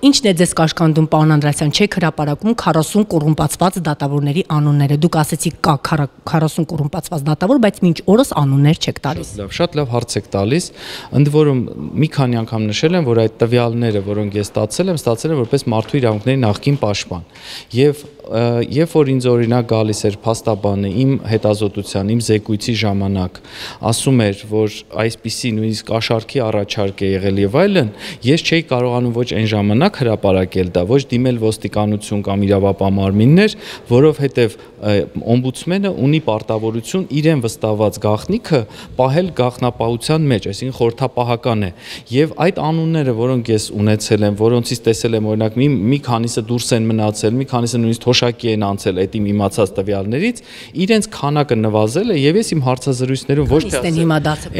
Ինչն է ձեզ կաշկանդում, պարոն Անդրեասյան, չեք հրապարակում 40 կոռումպացված դատավորների անունները։ Դուք ասեցիք կա 40 կոռումպացված դատավոր, բայց մինչ օրս անուններ չեք տալիս։ Շատ լավ հարց եք տալիս։ Ընդ որում մի քանի անգամ նշել եմ, որ այդ տվյալները, որոնք ես ստացել եմ որպես մարդու իրավունքների նախկին պաշտպան։ Եվ երբ որ ինձ օրինակ գալիս էր փաստաբանը իմ հետազոտության, իմ զեկույցի ժամանակ, ասում էր, որ այսպիսի նույնիսկ աշարքի առաջարկ է եղել եւ այլն, ես չէի կարողանում ոչ այն ժամանակ հրապարակել դա, ոչ դիմել ոստիկանություն կամ իրավապահ մարմիններ, որովհետեւ օմբուդսմենը ունի պարտավորություն իրեն վստահված գաղտնիքը պահել գաղտնապահության մեջ, այսինքն խորհրդապահական է։ Եվ այդ անունները, որոնք ես ունեցել եմ, որոնցից տեսել եմ օրինակ մի քանիսը դուրս են մնացել, մի քանիսը նույնիսկ թոշակի են անցել այդ իմ իմացած տվյալներից, իրենց քանակը նվազել է եւ ես իմ հարցազրույցներում ոչ թե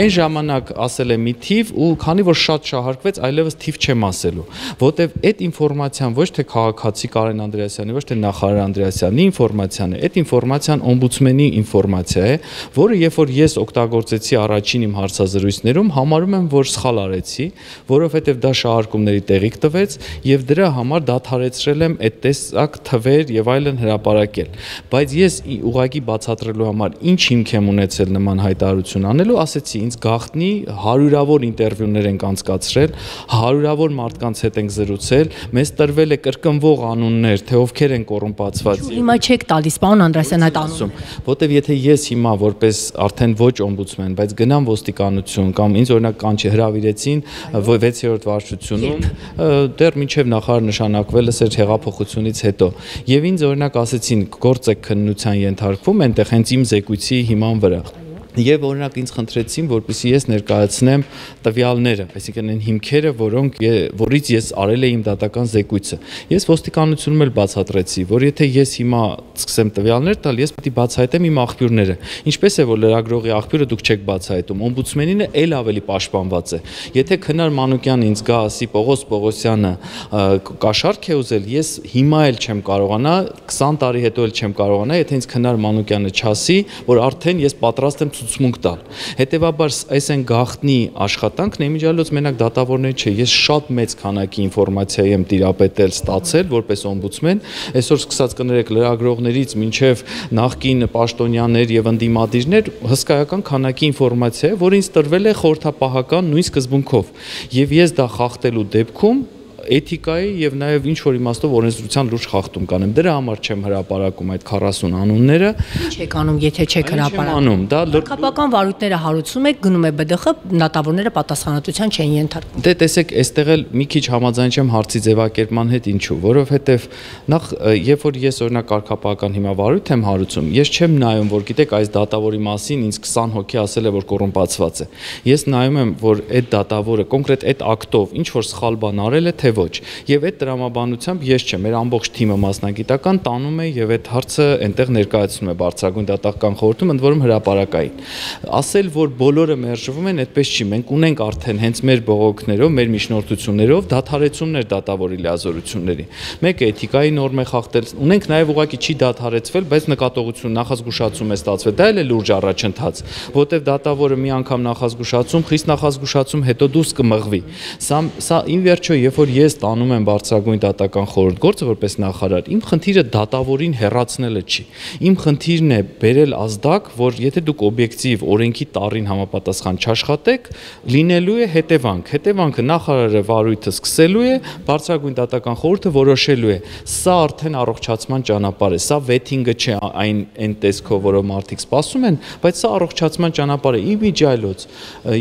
այն ժամանակ ասել եմ մի թիվ ու քանի որ շատ շահարկվեց, այլևս թիվ չեմ ասելու, որտեվ այդ ինֆորմացիան ոչ թե քաղաքացի Կարեն Անդրեասյանի, ոչ թե նախարար Անդրեասյանի ինֆորմացիան է, այդ ինֆորմացիան օմբուդսմենի ինֆորմացիա է, որը երբ որ ես օգտագործեցի առաջին իմ հարցազրույցներում, համարում եմ, որ սխալ արեցի, որովհետեւ դա շահարկումների տեղիք տվեց եւ դրա համար դադարեցրել եմ այդ տեսակ թվեր եւ այլն հրապարակել, բայց ես ուղղակի բացատրելու համար ինչ հիմք եմ ունեցել նման հայտարարություն անելու, ասեցի ինձ գաղտնի հարյուրավոր ինտերվյուներ ենք անցկացրել, հարյուրավոր մարդկանց հետ ենք զրուցել, մեզ տրվել է կրկնվող անուններ, թե ովքեր են կոռումպացված։ Հիմա չեք տալիս, պարոն Անդրեասյան, այդ անունները։ Որտեվ եթե ես հիմա որպես արդեն ոչ օմբուդսմեն, բայց գնամ ոստիկանություն կամ ինձ օրինակ կանչի հրավիրեցին 6-րդ վարչությունում, դեռ մինչև նախարար նշանակվելս էր հեղափոխությունից հետո։ Եվ ինձ օրինակ ասեցին գործ եք քննության ենթարկվում այնտեղ հենց իմ զեկույցի հիման վրա։ Եվ օրինակ ինձ խնդրեցին, որպեսզի ես ներկայացնեմ տվյալները, այսինքն այն հիմքերը, որից ես արել եմ իմ դատական զեկույցը։ Ես ոստիկանությունում էլ բացատրեցի, որ եթե ես հիմա սկսեմ տվյալներ տալ, ես պետք է բացահայտեմ իմ աղբյուրները։ Ինչպես է, որ լրագրողի աղբյուրը դուք չեք բացահայտում, օմբուդսմենինը էլ ավելի պաշտպանված է։ Եթե Քնար Մանուկյանը ինձ գա ասի Պողոս Պողոսյանը կաշառք է ուզել, ես հիմա էլ չեմ կարողանա, 20 տարի հետո էլ չեմ կարողանա, եթե ինձ Քնար Մանուկյանը չասի, որ արդեն ես պատրաստ եմ ցուցմունք տալ։ Հետևաբար այս այն գաղտնի աշխատանքն է, իմիջիալոց մենակ դատավորներ չէ, ես շատ մեծ քանակի ինֆորմացիա եմ տիրապետել, ստացել որպես օմբուդսմեն, այսօր սկսած կներեք լրագրողներից մինչև նախկին պաշտոնյաներ եւ ընդդիմադիրներ, հսկայական քանակի ինֆորմացիա է, որ ինձ տրվել է խորհրդապահական նույն սկզբունքով, եւ ես դա խախտելու դեպքում էթիկայի եւ նաեւ ինչ որ իմաստով օրենսդրության լուրջ խախտում կանեմ։ Դրա համար չեմ հրապարակում այդ 40 անունները։ Ինչ եք անում, եթե չեք հրապարակում։ Դա քաղաքական վարույթները հարուցում եք, գնում է ԲԴԽ, դատավորները պատասխանատվության չեն ենթարկվում։ Դե տեսեք, այստեղ էլ մի քիչ համաձայն չեմ հարցի ձևակերպման հետ, ինչու, որովհետեւ նախ երբ որ ես օրինակ քաղաքական հիմա վարույթ եմ հարուցում, ես չեմ նայում, որ գիտեք այս դատավորի մասին ինձ 20 հոգի ասել է, որ կոռումպացված է։ Ես նայում եմ, որ այդ դատավորը կոնկրետ այդ ակտով ինչ որ սխալ բան արել է, թե ոչ։ Եվ այդ տրամաբանությամբ ես չեմ, մեր ամբողջ թիմը մասնագիտական տանում է եւ այդ հարցը այնտեղ ներկայացնում է բարձրագույն դատական խորհրդում, ընդ որում հրապարակային։ Ասել, որ բոլորը մերժվում են, այդպես չի։ Մենք ունենք արդեն հենց մեր բողոքներով, մեր միջնորդություններով դադարեցումներ դատավորի լիազորությունների։ Մեկը էթիկայի նորմ է խախտել, ունենք նաեւ ուղղակի չի դադարեցվել, բայց նկատողություն նախազգուշացում է ստացվել։ Դա էլ է լուրջ առաջընթաց, որտեղ դատավորը մի անգամ նախազգուշացում, խիստ նախազգուշացում, հետո դուրս կմղվի։ Սա ին վերջո, երբ որ ես տանում եմ բարձրագույն դատական խորհուրդ գործը որպես նախարար, իմ խնդիրը դատավորին հեռացնելը չի։ Իմ խնդիրն է բերել ազդակ, որ եթե դուք օբյեկտիվ օրենքի տառին համապատասխան չաշխատեք, լինելու է հետևանք։ Հետևանքը նախարարը վարույթը սկսելու է, բարձրագույն դատական խորհուրդը որոշելու է։ Սա արդեն առողջացման ճանապարհ է, սա վեթինգը չէ այն տեսքով, որով մարդիկ սպասում են, բայց սա առողջացման ճանապարհ է։ Իմիջիալոց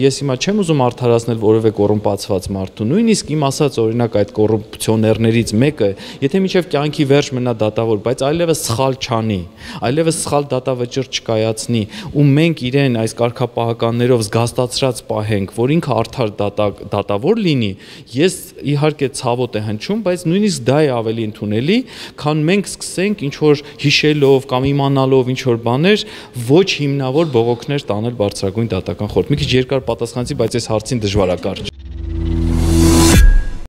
ես հիմա չեմ ուզում արդարացնել որևէ կոռումպացված մարդու, նույնիսկ իմ ասած օրինակ այդ կոռուպցիոներներից մեկը, եթե մինչև կյանքի վերջ մնա դատավոր, բայց այլևս սխալ չանի, այլևս սխալ դատավճիռ չկայացնի, ու մենք իրեն այս կարգապահականներով զգաստացրած պահենք, որ ինքը արդար դատավոր լինի, ես իհարկե ցավոտ է հնչում, բայց նույնիսկ դա է ավելի ընդունելի, քան մենք սկսենք ինչ որ հիշելով կամ իմանալով ինչ որ բաներ ոչ հիմնավոր բողոքներ տանել բարձրագույն դատական խորհուրդ։ Մի քիչ երկար պատասխանեցի, բայց այս հարցին դժվար է կարճ։